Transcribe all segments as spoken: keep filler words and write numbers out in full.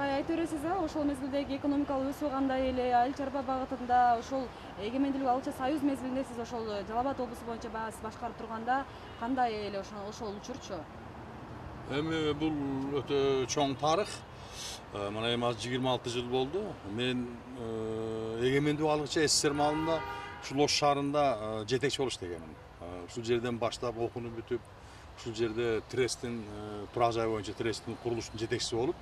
агай айта бересиз а ошол мезгилдеги экономикалык өсүү кандай эле, айыл чарба багытында ошол эгемендүүлүк алуучу союз мезгилинде сиз ошол Жалал Абад облусу боюнча баягы сиз башкарып турганда кандай эле ошол ошол учурчу? Эми бул өтө чоң тарых. Мына эми азыр жыйырма алты жыл болду. Мен эгемендүүлүк алгыча СССР маалында ушул Ош шаарында жетекчи болуп иштегенмин. Ушул жерден баштап окууну бүтүп, ушул жерде Тресттин турак жай боюнча Тресттин курулуштун жетекчиси болуп,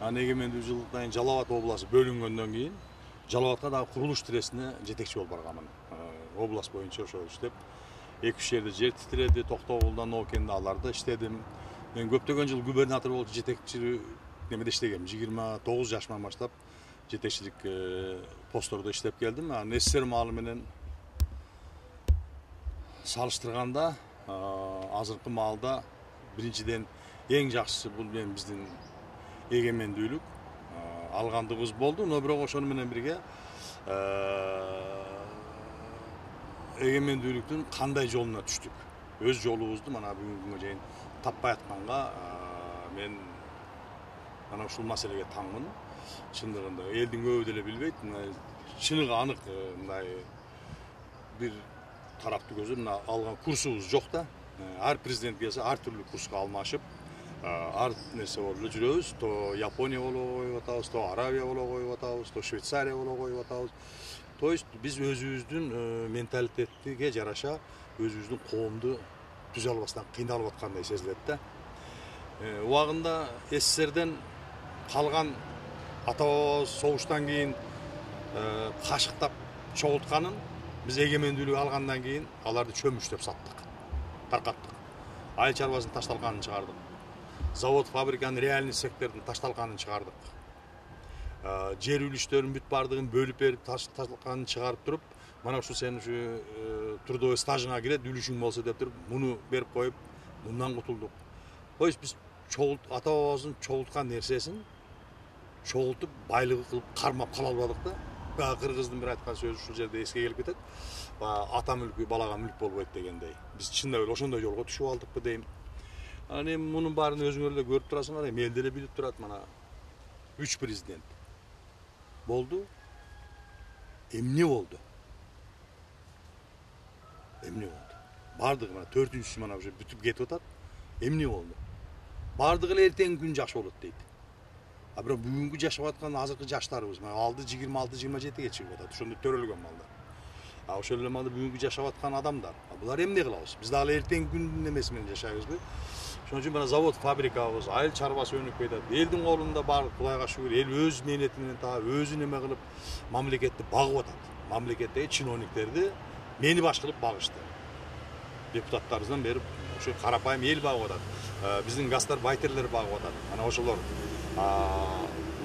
анан эгемендүүлүк жылдан кийин Жалал Абад областы бөлүнгөндөн кийин Жалал Абадка дагы курулуш Трестине жетекчи болуп барганмын. Область боюнча ошол иштеп, эки үч жерде жер титиреди, Токтогулда, Ноокенде аларда иштедим. Мен көптөгөн жыл губернатор болуп жетекчи немеде иштегем. жыйырма тогуз жашыман баштап жетекчилик посттордо иштеп келдим. Анан СССР маалы менен салыштырганда азыркы маалда биринчиден эң жакшысы бул мен биздин эгемендүүлүк алгандыгыбыз болду, но бирок ошону менен бирге эгемендүүлүктүн кандай жолуна түштүк. Өз жолубузду мана бүгүнкү күнгө чейин таппай атканга мен мана ушул маселеге таңмын. Чындыгында элдин көбү деле билбейт. Чыныгы анык мындай бир тараптуу көзү мына алган курсубуз жок да. Ар президент келсе ар түрлүү курска алмашып, ар нерсе болуп эле жүрөбүз. То Япония боло коюп атабыз, то Арабия боло коюп атабыз, то Швейцария боло коюп атабыз. То есть биз өзүбүздүн менталитетиге жараша өзүбүздүн коомду түзө албастан кыйналып аткандай сезилет да. Убагында СССРден калган ата-бабабыз согуштан кийин кашыктап чогултканын биз эгемендүүлүк алгандан кийин аларды чөмүштөп саттык, таркаттык. Айыл чарбасынын ташталганын чыгардык. Завод, фабриканын реальный сектордун ташталганын чыгардык. Жер үлүштөрүн бүт бардыгын бөлүп берип ташталганын чыгарып туруп, мана ушу сен ушу трудовой стажыңа кирет, үлүшүң болсо деп туруп, муну берип коюп, мындан кутулдук. То есть биз чогулт ата-бабабыздын чогулткан нерсесин чогултуп байлыгы кылып кармап кала албадык да. Баягы кыргыздын бир айткан сөзү ушул жерде эске келип кетет. Ата мүлкү балага мүлк болбойт дегендей. Биз чындап эле ошондой жолго түшүп алдыкпы дейм. Анан эми мунун баарын өзүңөр эле көрүп турасыңар, эми эл деле билип турат. Мана үч президент болду. Эмне болду? Эмне болду? Бардыгы мана төртүнчүсү мана уже бүтүп кетип атат. Эмне болду? Бардыгы эле эртеңки күн жакшы болот дейт. А бирок бүгүнкү жашап аткан азыркы жаштарыбыз мына алды жыйырма алты жыйырма жетиге чыгып атат. Ошондо төрөлгөн малдар. А ошол эле малда бүгүнкү жашап аткан адамдар. А булар эмне кылабыз? Биз дагы эртеңки күндүн эмеси менен жашайбызбы? Ошон үчүн мына завод, фабрикабыз, айыл чарбасы өнүкүп кетет. Элдин колунда бар, Кудайга шүгүр, эл өз мээнети менен таап, өзү неме кылып мамлекетти багып атат. Мамлекеттеги чиновниктерди мени баш кылып багышты. Депутаттарыбыздан бери ошо карапайым эл багып атат. Биздин гастарбайтерлер багып атат. Мана ошолор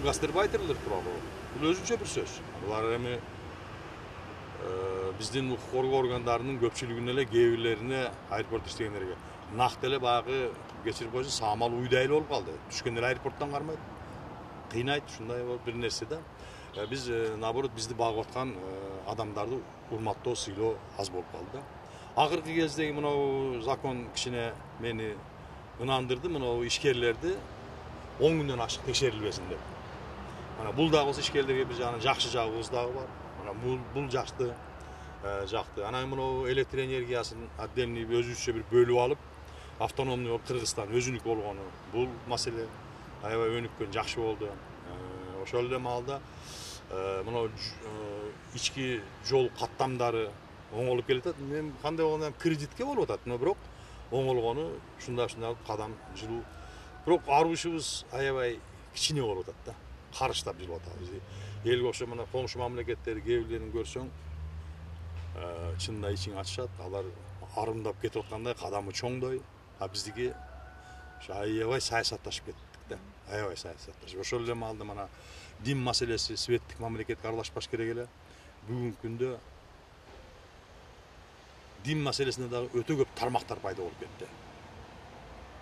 гастарбайтерлер тууралуу бул өзүнчө бир сөз. Булар эми биздин укук коргоо органдарынын көпчүлүгүнө эле кээ бирлерине аэропорт иштегендерге нак деле баягы кечирип койсо саамал уйдай эле болуп калды. Түшкөн эле аэропорттон кармайт. Кыйнайт ушундай бир нерсе да. Биз наоборот бизди багып аткан адамдарды урматтоо, сыйлоо аз болуп калды да. Акыркы кездеги мынау закон кичине мени ынандырды, мынау ишкерлерди он күндөн ашык текшерилбесин деп. Мана бул дагы болсо ишкерлерге бир жагынан жакшы жагыбыз дагы бар. Мана бул бул жакты, жакты. Анан мынау электр энергиясын отдельный өзүбүзчө бир бөлүп алып, автономный болуп Кыргызстан өзүнүкү болгону бул маселе аябай өнүккөн, жакшы болду. Ошол эле маалда мынау ички жол каттамдары оңолуп келатат. Мен кандай болгондо кредитке болуп атат, но бирок оңолгону ушундай-ушундай кадам жылуу. Бирок арыбышыбыз аябай кичине болуп атат да. Карыштап жылып атабыз. Элге окшоп мына коңшу мамлекеттер кээ бирлерин көрсөң, чынында ичиң ачышат. Алар арымдап кетип аткандай, кадамы чоңдой. А биздики ошо аябай саясатташып кеттик да. Аябай саясатташып. Ошол эле маалда мана дин маселеси светтик мамлекетке аралашпаш керек эле. Бүгүнкү күндө дин маселесинде дагы өтө көп тармактар пайда болуп кетти.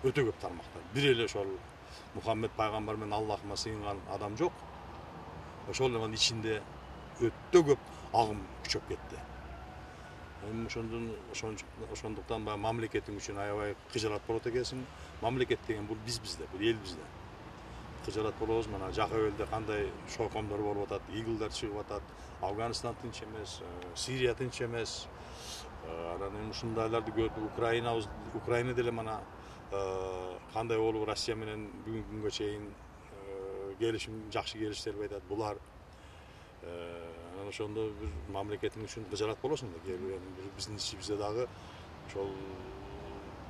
Өтө көп тармактар. Бир эле ошол Мухаммед пайгамбар менен Аллахыма сыйынган адам жок. Ошол эле ичинде өтө көп агым күчөп кетти. Эми ошондон ошондуктан баягы мамлекеттин үчүн аябай кыжалат болот экенсиң. Мамлекет деген бул биз бизде, бул эл бизде. кыжырат болобуз. Мына Жакыбелде кандай шойкомдор болуп атат, игилдер чыгып атат. Афганистан тынч эмес, Сирия тынч эмес. Анан эми ушундайларды көрдүк. Украина Украина деле мана кандай болуп Россия менен бүгүнкү күнгө чейин келишим, жакшы келишти деп айтат. Булар анан ошондо бир мамлекетиң үчүн кыжырат болосуң да. Кээ бир биздин ичибизде дагы ошол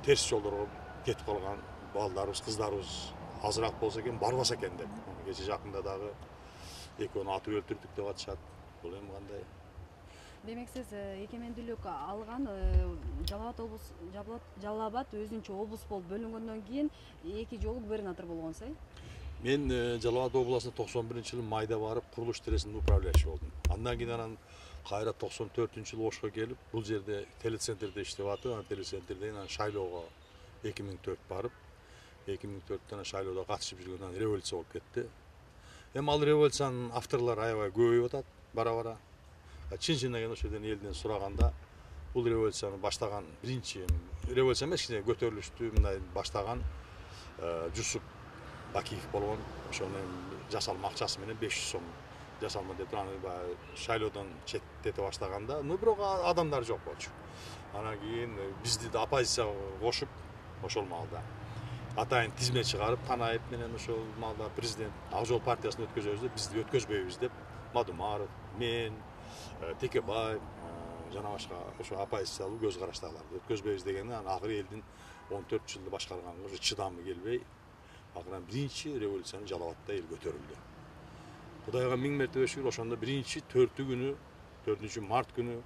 терс жолдорго кетип калган балдарыбыз, кыздарыбыз азыраак болсо экен, барбаса экен деп. Кече жакында дагы экөөнү атып өлтүрдүк деп атышат. Бул эми кандай? Демек сиз эгемендүүлүк алган Жалал абад облус Жалал абад өзүнчө облус болуп бөлүнгөндөн кийин эки жолу губернатор болгонсуз, э? Мен Жалал абад областына токсон биринчи жылы майда барып, курулуш иштересинин управляющий болдум. Андан кийин анан кайра токсон төртүнчү жылы Ошко келип, бул жерде телецентрде иштеп атып, анан телецентрден анан шайлоого эки миң төрт барып, эки миң төрттө анан шайлоодо катышып жүргөндөн анан революция болуп кетти. Эми ал революциянын авторлору аябай көбөйүп атат бара-бара. Чын чынына келгенде ошол жерден элден сураганда, бул революцияны баштаган биринчи революция эмес, кичине көтөрүлүштү мындай баштаган Жусуп Бакиев болгон. Ошону жасалма акчасы менен беш жүз сом жасалма деп аны баягы шайлоодон четтете баштаганда, ну бирок адамдар жок болчу. Анан кийин бизди да оппозицияга кошуп, ошол маалда атайын тизме чыгарып, Танаев менен ошол маалда президент Ак Жол партиясын өткөзөбүз деп, бизди өткөзбөйбүз деп, Мадумаров, мен, Текебаев жана башка ошо оппозициялуу көз караштагыларды өткөзбөйбүз дегенде, анан акыры элдин он төрт жылды башкарганга уже чыдамы келбей, акырын биринчи революцияны Жалал абадда эл көтөрүлдү. Кудайга миң мертебе шүгүр, ошондо биринчи төртү күнү, төртүнчү март күнү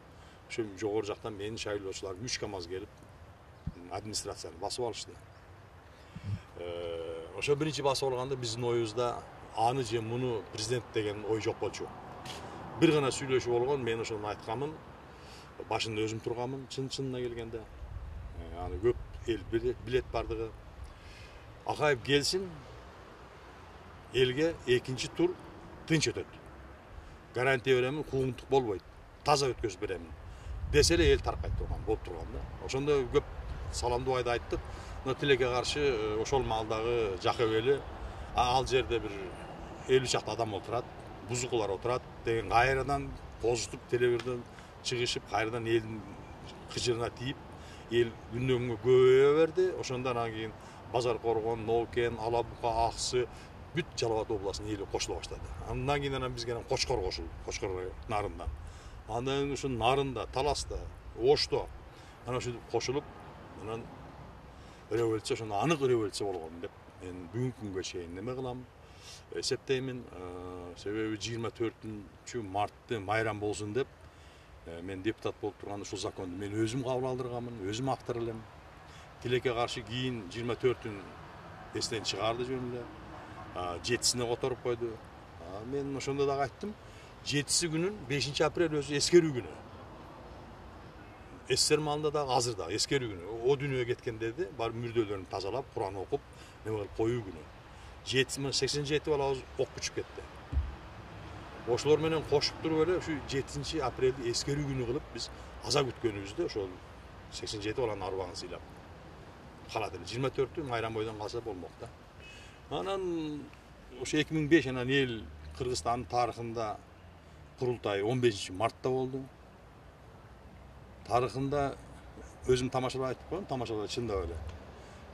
ошо жогору жактан менин шайлоочуларым үч КАМАЗ келип администрацияны басып алышты. Ошо биринчи басып алганда биздин оюбузда аны же муну президент деген ой жок болчу. Бир гана сүйлөшүү болгон, мен ошону айтканмын, башында өзүм турганмын, чын чынына келгенде. Аны көп эл билет бардыгы. Акаев келсин, элге экинчи тур тынч өтөт. Гарантия беремин, куугунтук болбойт. Таза өткөзүп беремин. Десе эле эл таркайт турган, болуп турган да. Ошондо көп саламдуу айда айттык. Но тилекке каршы ошол маалдагы Жакыбели, ал жерде бир элүү чакты адам отурат, бузукулар отурат деген кайрадан козутуп телевизордон чыгышып, кайрадан элдин кыжырына тийип, эл күндөн күнгө көбөйө берди. Ошондон анан кийин Базар Коргон, Ноукен, Ала Бука, Аксы бүт Жалал абад областынын эли кошула баштады. Андан кийин анан бизге Кочкор кошулду, Кочкор нарында. Андан ушу Нарында, Таласта, Ошто анан ушинтип кошулуп, анан революция ошондо анык революция болгон деп мен бүгүнкү күнгө чейин неме кылам, эсептеймин. Себеби жыйырма төртүнчү мартты майрам болсун деп мен депутат болуп турганда ушул законду мен өзүм кабыл алдырганмын, өзүм автор элем. Тилекке каршы кийин жыйырма төртүн эстен чыгарды жөн эле. жетисине которуп койду. Мен ошондо дагы айттым, жетиси күнүн бешинчи апрель өзү эскерүү күнү. СССР маалында дагы азыр дагы эскерүү күнү. О дүйнөгө кеткендерди бар мүрдөлөрүн тазалап, Куран окуп, неме кылып коюу күнү. сексен жети балабыз окко учуп кетти. Ошолор менен кошуп туруп эле ушу жетинчи апрелди эскерүү күнү кылып биз аза күткөнүбүздө ошол сексен жети баланын арбагын сыйлап калат эле. жыйырма төртү майрам бойдон калса болмок да. Анан ошо эки миң беш анан эл Кыргызстандын тарыхында курултай он бешинчи мартта болду. Тарыхында өзүм тамашалап айтып коем, тамашалап чындап эле.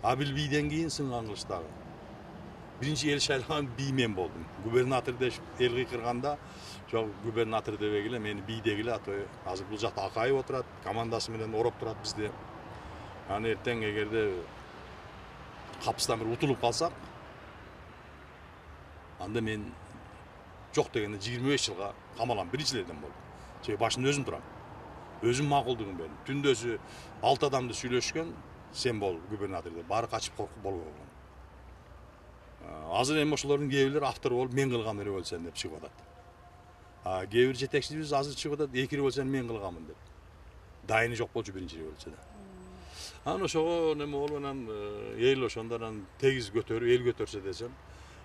Абил бийден кийин сынган кылычтагы. Биринчи эл шайлаган бий мен болдум. Губернатор деп эл кыйкырганда, жок губернатор дебегиле, мени бий дегиле, а то азыр бул жакта Акаев отурат, командасы менен ороп турат бизди. Аны эртең эгерде капыстан бир утулуп калсак, анда мен жок дегенде жыйырма беш жылга камалам, биринчилерден болдум. Себеби башында өзүм турам. Өзүм макулдугун бердим. Түндөсү алты адамды сүйлөшкөн, сен бол губернатор деп, баары качып коркуп болбой калган. Азыр эми ошолордун кээ бирлери автор болуп мен кылган революция деп чыгып атат. А кээ бир жетекчибиз азыр чыгып атат, эки революцияны мен кылганмын деп. Дайыны жок болчу биринчи революцияда. Анан ошого неме болуп анан эл ошондон тегиз көтөрүп, эл көтөрсө десем,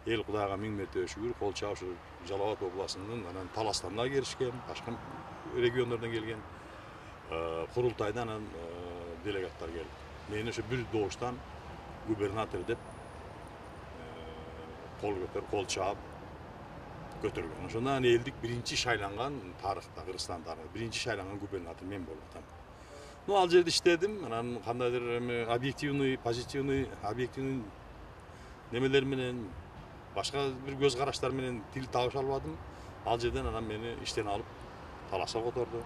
эл Кудайга миң мертебе шүгүр, кол чаап ушу Жалал абад областынын анан Таластан да келишкен, башка региондордон келген курултайдан анан делегаттар келип. Мени ошо бир добуштан губернатор деп кол көтөр, кол чаап көтөргөн. Ошондон элдик биринчи шайланган тарыхта, Кыргызстан тарыхында биринчи шайланган губернатор мен болуп атам. Ну, ал жерде иштедим. Анан кандайдыр эми объективный, позитивный, объективный немелер менен, башка бир көз караштар менен тил табыша албадым. Ал жерден анан мени иштен алып Таласка которду.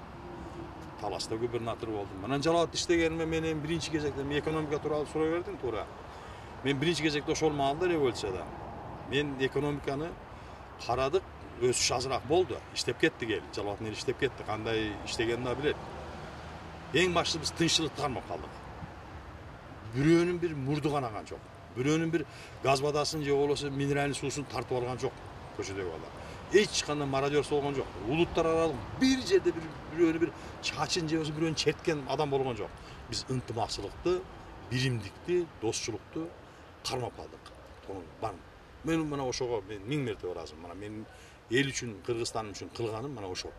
Таласта губернатор болдум. Анан Жалал абадта иштегениме мен эми биринчи кезекте мен экономика тууралуу сурай бердим туура. Мен биринчи кезекте ошол маалда революцияда мен экономиканы карадык, өсүш азыраак болду. Иштеп кеттик эл. Жалал абадтын эли иштеп кетти. Кандай иштегенин да билет. Эң башты биз тынччылыкты кармап калдык. Бирөөнүн бир мурду канаган жок. Бирөөнүн бир газ бадасын же болбосо минеральный суусун тартып алган жок көчөдөгү балдар. Эч кандай мародерство болгон жок. Улуттар аралык бир жерде бир бирөөнү бир чачын же болбосо бирөөнү черткен адам болгон жок. Биз ынтымакчылыкты, биримдикти, досчулукту кармап калдык. Мен мына ошого мен миң мерте ыраазымын. Мына мен эл үчүн, Кыргызстан үчүн кылганым мына ошол.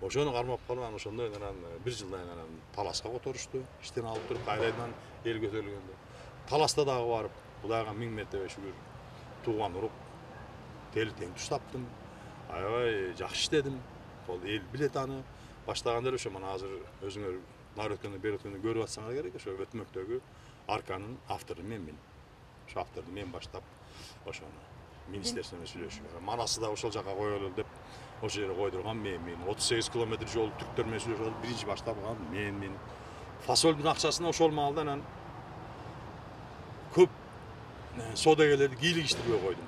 Ошону кармап калып, анан ошондой анан бир жылдан анан Таласка которушту. Иштен алып туруп кайрадан эл көтөрүлгөндө. Таласта дагы барып, Кудайга миң мерте шүгүр, тууган уруп, тели тең туш таптым. Аябай жакшы иштедим. Бул эл билет аны. Баштаганда ошо мына азыр өзүңөр нар өткөндө, бери өткөндө көрүп атсаңар керек, ошо өтмөктөгү арканын автору менмин. Ошо авторду мен баштап ошону министрство менен сүйлөшүп, манасы да ошол жака коелу деп ошол жерге койдурган менмин. отуз сегиз километр жол түрктөр менен сүйлөшүп биринчи баштапкан менмин. Фасолдун акчасын ошол маалда анан көп содагерлерди кийлигиштирбей койдум.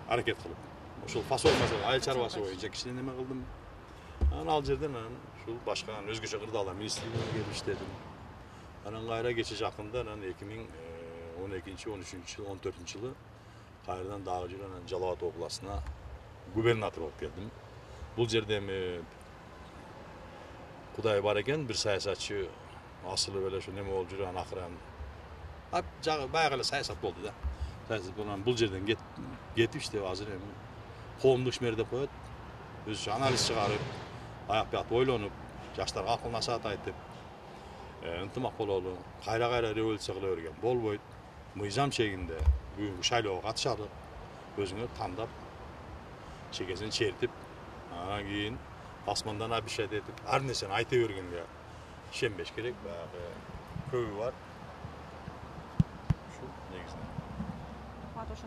Аракет кылып. Ошол фасол маселе айыл чарбасы боюнча кичине неме кылдым. Анан ал жерден анан ушул башка өзгөчө кырдаалдар министрлигине келип иштедим. Анан кайра кече жакында анан эки миң он экинчи, он үчүнчү жыл, он төртүнчү жылы кайрадан дагы жүрүп анан Жалал Абад областына губернатор болуп келдим. Бул жерде эми Кудай бар экен, бир саясатчы асылып эле ошо неме болуп жүрүп анан акыры ап жагы баягы эле саясат болду да. Саясат болуп бул жерден кетип иштеп азыр эми коомдук ишмер деп коет. Өзүнчө анализ чыгарып, аяк бияк ойлонуп, жаштарга акыл насаат айтып, ынтымак бололу, кайра-кайра революция кыла берген болбойт. Мыйзам чегинде бүгүнкү шайлоого катышалы, өзүңөр тандап, чекесин чертип, анан кийин асмандан обещать этип, ар нерсени айта бергенге ишенбеш керек. Баягы көбү бар. Ушул негизинен.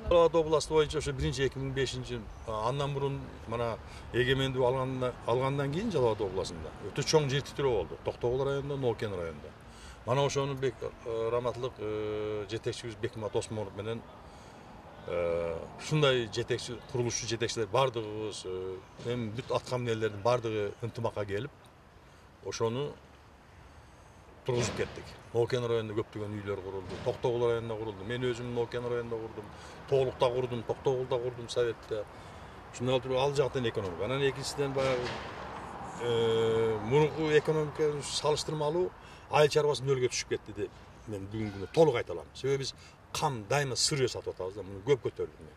Жалал Абад областы боюнча ошо биринчи эки миң бешинчи андан мурун мына эгемендүү алгандан алгандан кийин Жалал Абад областында өтө чоң жер титирөө болду. Токтогул районунда, Ноокен районунда. Мана ошону раматлык жетекчибиз Бекмамат Осмонов менен ушундай жетекчи, курулушчу жетекчилер бардыгыбыз, эми бүт аткан эмнелердин бардыгы ынтымакка келип, ошону тургузуп кеттик. Ноокен районунда көптөгөн үйлөр курулду, Токтогул районунда курулду. Мен өзүм Ноокен районунда курдум, Тоолукта курдум, Токтогулда курдум советте. Ушундай туруп ал жактан экономика. Анан экинчиден баягы мурунку экономика салыштырмалуу айыл чарбасы нөлгө түшүп кетти деп мен бүгүнкү күнү толук айта алам. Себеби биз кам дайыма сырье сатып атабыз да, муну көп көтөрдүк мен.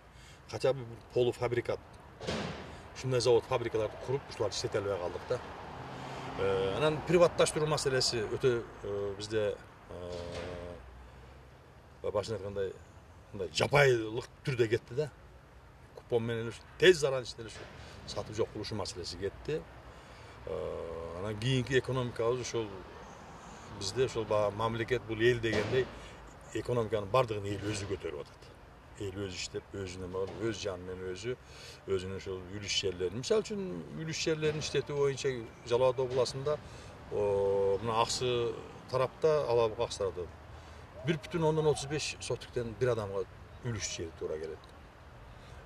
Хотя бы полуфабрикат, ушундай завод, фабрикаларды куруп, ушуларды иштете албай калдык да. Анан приватташтыруу маселеси өтө бизде башын айткандай мындай жапайылык түрдө кетти да. Купон менен тез аран ичинде сатып жок кылушу маселеси кетти. Анан кийинки экономикабыз ошол бизде ошол мамлекет бул эл дегендей экономиканын бардыгын эл өзү көтөрүп атат. Эл өзү иштеп, өзүнө өз жаны менен өзү, өзүнүн ошол үлүш жерлерин. Мисалы үчүн үлүш жерлерин иштетүү боюнча Жалал Абад областында мына Аксы тарапта, Алабы Аксы тарапта бир бүтүн ондон отуз беш сотиктен бир адамга үлүш жери туура келет.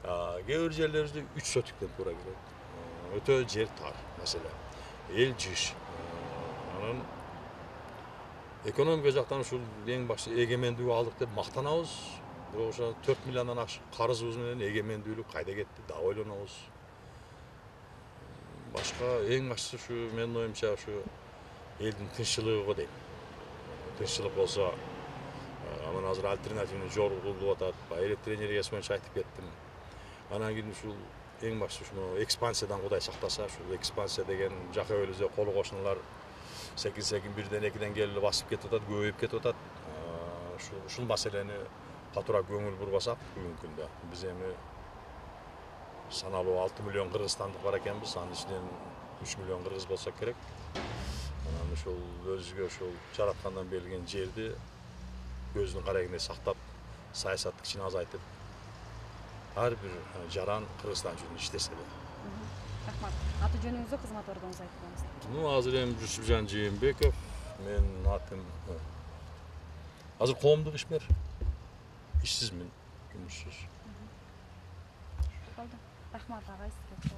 Кээ бир жерлерибизде үч сотиктен туура келет. Өтө жер тар маселе. Эл жыш. Анан экономика жактан ушул эң башты эгемендүү алдык деп мактанабыз. Бирок ошо төрт миллиондон ашык карызыбыз менен эгемендүүлүк кайда кетти да ойлонобуз. Башка эң башкысы ушу менин оюмча ушу элдин тынччылыгы го дейм. Тынччылык болсо, анан азыр альтернативный жол курулуп атат. Электр энергиясы боюнча айтып кеттим. Анан кийин ушул эң башкысы ушуну экспансиядан Кудай сактаса, ушул экспансия деген жака бөлүбүздө колу кошуналар секин секин бирден экиден келип басып кетип атат, көбөйүп кетип атат. Ушул ушул маселени катуураак көңүл бурбасак бүгүнкү күндө биз эми саналуу алты миллион кыргызстандык бар экенбиз, анын ичинен үч миллион кыргыз болсо керек. Анан ушул өзүгө ушул жараткандан берилген жерди көздүн карайгындай сактап, саясатты кичине азайтып, ар бир жаран Кыргызстан үчүн иштесе эле. Рахмат. Аты жөнүңүздү, кызмат ордуңузду айтып коюңуз. Ну, азыр эми Жусупжан Жээнбеков, менин атым азыр коомдук ишмер. Ишсизмин, жумушсуз. Болду. Рахмат агай сизге.